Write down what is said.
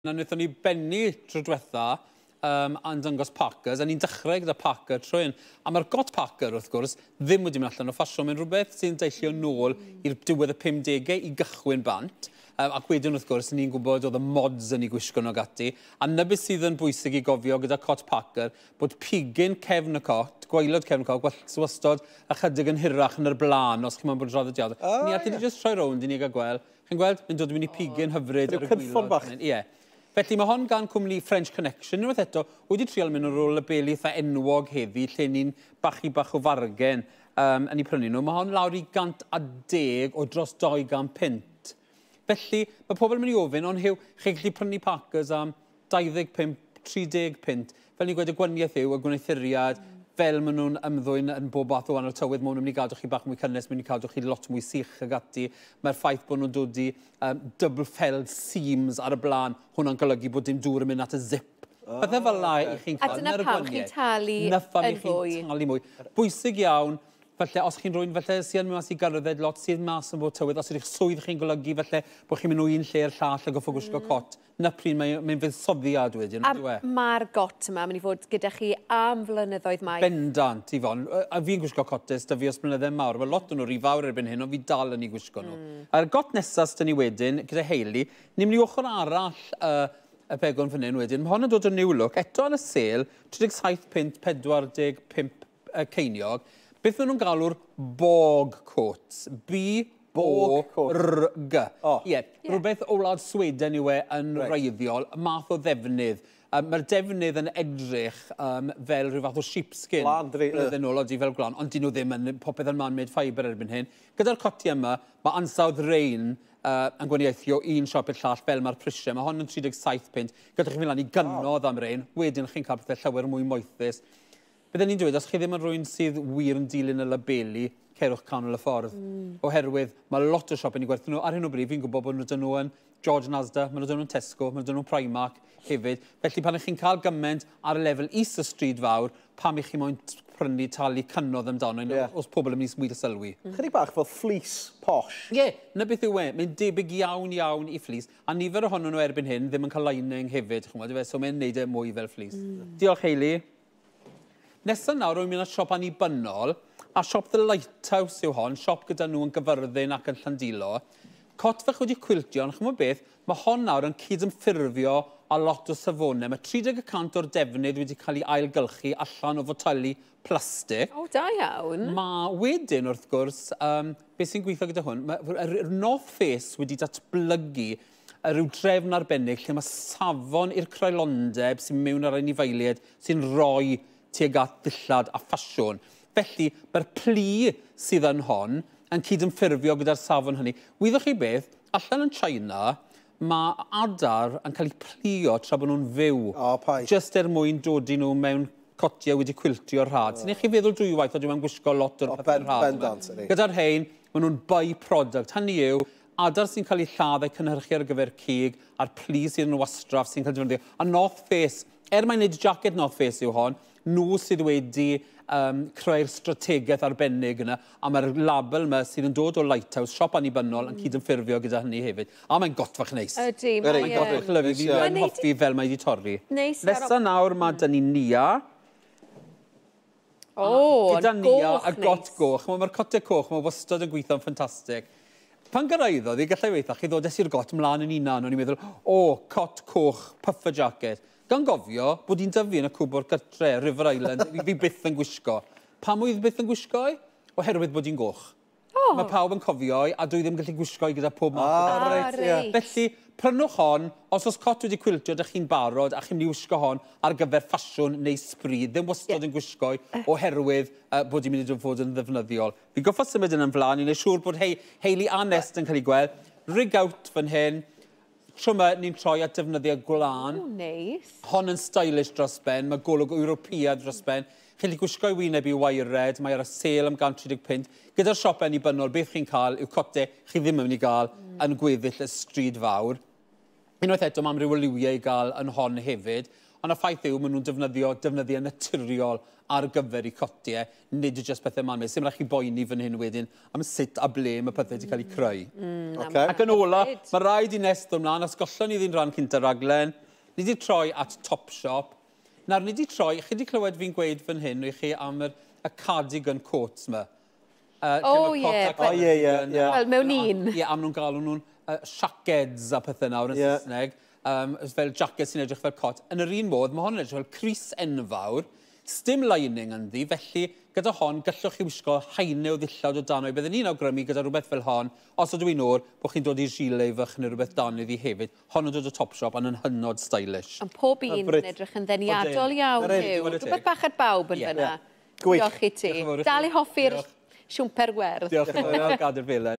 Na wnaethon ni bennu tro diwetha yn dangos Parkers, a ni'n dechrau gyda Parker trwy hyn. A mae'r got Parker, wrth gwrs, ddim wedi mynd allan o ffasiwn. Mae'n rhywbeth sy'n deillio nôl i'r diwedd y 50au i gychwyn bant. Ac wedyn, wrth gwrs, ni'n gwybod oedd y mods yn ei gwisgo nhw gati. A na beth sydd yn bwysig i gofio gyda cot Parker, bod pigyn cefn y cot, gwaelod cefn y cot, wastod ychydig yn hirach yn yr blaen, os chi'n bod yn draddodiadol. Ni allu ni jyst troi rownd i ni gael gweld. Chi'n gweld? Mae'n dod i mynd i pigyn hyfryd ar y gwaelod. Bach. Ie. Felly mae hon gan cwmni French Connection. Unwaith eto, wedi trial mynd ar ôl y beli eitha enwog heddi, lle ni'n bachu bach o fargen yn ei prynu nhw. Mae hon lawr i 110 o dros 200 punt. Felly, mae pobl yn mynd i ofyn, ond Huw, chi'n gallu prynu Parkers am 25, 30 punt. Fel ni'n gweud, y gwaniaeth yw, y gwneuthuriad, fel maen nhw'n ymddwyn yn bob fath o wahanol tywydd, maen nhw'n mynd i gadw chi bach mwy cynnes, maen nhw'n mynd i cadw chi lot mwy sych ag ati. Mae'r ffaith bod nhw'n dod i double felled seams ar y blaen, hwnna'n golygu bod dim dŵr yn mynd at y zip. Pethau fel la i chi'n cael. A dyna pam chi'n talu yn fwy. Chi'n talu mwy. Bwysig iawn, falle os chi'n rhywun falle sy'n mynd mas i gerdded lot, sy'n mas yn bod tywydd, os ydych swydd chi'n golygu falle bod chi'n mynd o un lle i'r llall a goffo gwisgo cot, na pryd mae'n fuddsoddiad wedyn. A mae'r got yma mynd i fod gyda chi am flynyddoedd maith. Bendant, Yvonne. A fi'n gwisgo cotes da fi os blynydde mawr. Mae lot o'n nhw rhy fawr erbyn hyn, ond fi dal yn ei gwisgo nhw. A'r got nesaf sydd ni wedyn, gyda Hayley, ni'n mynd i ochr arall y begwn fan hyn wedyn. Mae hon yn dod o New Look, eto yn y sêl, 37 punt 45 ceiniog. Beth maen nhw'n galw'r Borg coats? B-O-R-G. Ie, rhywbeth o wlad Sweden yw e yn wreiddiol, math o ddefnydd. Mae'r defnydd yn edrych fel rhyw fath o sheepskin. Gwlân, dydi? Blynydde nôl, odi, fel gwlân, ond dyn nhw ddim yn popeth yn man-made fibre erbyn hyn. Gyda'r coti yma, mae ansawdd rein yn gwaniaethu o un siop i'r llall fel mae'r prisiau. Mae hon yn 37 punt. Gallwch chi fynd lan i gynnodd am rein, wedyn chi'n cael pethau llawer mwy moethus. Bydden ni'n dweud, os chi ddim yn rhywun sydd wir yn dilyn y labeli, cerwch canol y ffordd. Oherwydd mae lot o siopau yn ei gwerthu nhw. Ar hyn o bryd, fi'n gwybod bod nhw dyn nhw yn George Asda, maen nhw dyn nhw'n Tesco, maen nhw dyn nhw'n Primark hefyd. Felly pan ych chi'n cael gymaint ar y lefel is y stryd fawr, pam i chi moyn prynu talu cynnodd amdano, os pobl yn mynd i wir sylwi. Chydig bach fel fleece posh. Ie, yeah, na beth yw e. Mae'n debyg iawn iawn i fleece. A nifer ohonyn nhw erbyn hyn ddim yn cael lining hefyd, ch'mod, so mae'n neud e mwy fel fleece. Diolch, Hayley. Nesaf nawr, rwy'n mynd at siop annibynnol, a siop The Lighthouse yw hon, siop gyda nhw yn Gyfyrddin ac yn Llandilo. Cot fach wedi cwiltio, ond ch'mod beth, mae hon nawr yn cydymffurfio a lot o safonau. Mae 30% o'r defnydd wedi cael ei ailgylchu allan o foteli plastig. O, da iawn. Mae wedyn, wrth gwrs, beth sy'n gweithio gyda hwn, mae'r North Face wedi datblygu rhyw drefn arbennig lle mae safon i'r creulondeb sy'n mewn ar anifeiliaid sy'n rhoi tuag at ddillad a ffasiwn. Felly, mae'r plu sydd yn hon yn cydymffurfio gyda'r safon hynny. Wyddoch chi beth, allan yn China, mae adar yn cael eu pluo tra bod nhw'n fyw. O, paid. Just er mwyn dodi nhw mewn cotiau wedi cwiltio'r rhad. Sy'n eich chi feddwl dwywaith o dwi'n gwisgo lot o'r pethau rhad. Bendant, ydy. Gyda'r rhain, maen nhw'n by-product. Hynny yw, adar sy'n cael eu lladd eu cynhyrchu ar gyfer cig, a'r plu sydd yn wastraff sy'n cael ei defnyddio. A North Face, er mae'n neud jacket North Face yw hon, nhw sydd wedi creu'r strategaeth arbennig yna, a mae'r label yma sydd yn dod o Lighthouse, siop annibynnol, yn cydymffurfio gyda hynny hefyd. A mae'n gotfach neis. Ydy, mae'n mae'n gotfach lyfli. Fi yn hoffi fel mae wedi torri. Neis. Nesa nawr mae dyn ni Nia. O, gyda Nia goch a got goch. Mae'r cotau coch, mae wastad yn gweithio'n ffantastig. Pan gyrraeddodd, i gallai weithio, chi ddod i'r got mlaen yn unan, o'n i'n meddwl, o, cot coch, puffer jacket. Gan gofio bod hi'n dyfu yn y cwbwrdd gytre, River Island, fi byth yn gwisgo. Pam oedd byth yn gwisgo i? Oherwydd bod hi'n goch. Mae pawb yn cofio i, a dwi ddim yn gallu gwisgo i gyda pob math o beth. Felly, prynwch hon, os oes cot wedi cwiltio, dych chi'n barod, a chi'n mynd i wisgo hon ar gyfer ffasiwn neu sbri. Ddim wastad yn gwisgo i, oherwydd bod hi'n mynd i fod yn ddefnyddiol. Fi'n goffo symud yn ymlaen, i wneud siŵr bod Hayley a Nest yn cael ei gweld. Rig out fan hyn. Tro yma, ni'n troi at defnyddiau gwlân. O, neis. Hon yn stylish dros ben, mae golwg Ewropeaidd dros ben. Chi'n gallu gwisgo i wyneb i waered, mae ar y sêl am 135 punt. Gyda'r siopau annibynnol, beth chi'n cael yw cote chi ddim yn mynd i gael yn gweddill y stryd fawr. Unwaith eto, mae amryw o liwiau i gael yn hon hefyd. Ond y ffaith yw, maen nhw'n defnyddio defnyddiau naturiol ar gyfer eu cotiau, nid yw jyst pethau man-made. Sim rhaid chi boeni fan hyn wedyn am sut a ble mae pethau wedi cael eu creu. Ac yn ola, mae rhaid i Nest ddod ymlaen, os gollon ni ddyn rhan cynta'r raglen, ni wedi troi at Topshop. Nawr, ni wedi troi, chi wedi clywed fi'n gweud fan hyn i chi am y cardigan coats yma. O, ie. O, ie. Wel, mewn un. Ie, am nhw'n galw nhw'n shackets a pethau nawr yn Saesneg. Fel jacket sy'n edrych fel cot. Yn yr un modd, mae hon yn edrych fel crys enfawr, sdim lining ynddi, felly gyda hon gallwch chi wisgo haenau o ddillad o dan o'i. Byddwn ni'n awgrymu gyda rhywbeth fel hon, os ydw i'n oer, bod chi'n dod i gilet fach neu rhywbeth dan iddi hefyd. Hon yn dod o Topshop ond yn hynod stylish. Ond pob un yn edrych yn ddeniadol iawn, Huw. Rhywbeth bach ar bawb yn fyna. Gwych. Diolch i ti. Diolch yn fawr i chi. Dal i hoffi'r Diolch. siwmper werdd. Diolch yn fawr, gadael felen.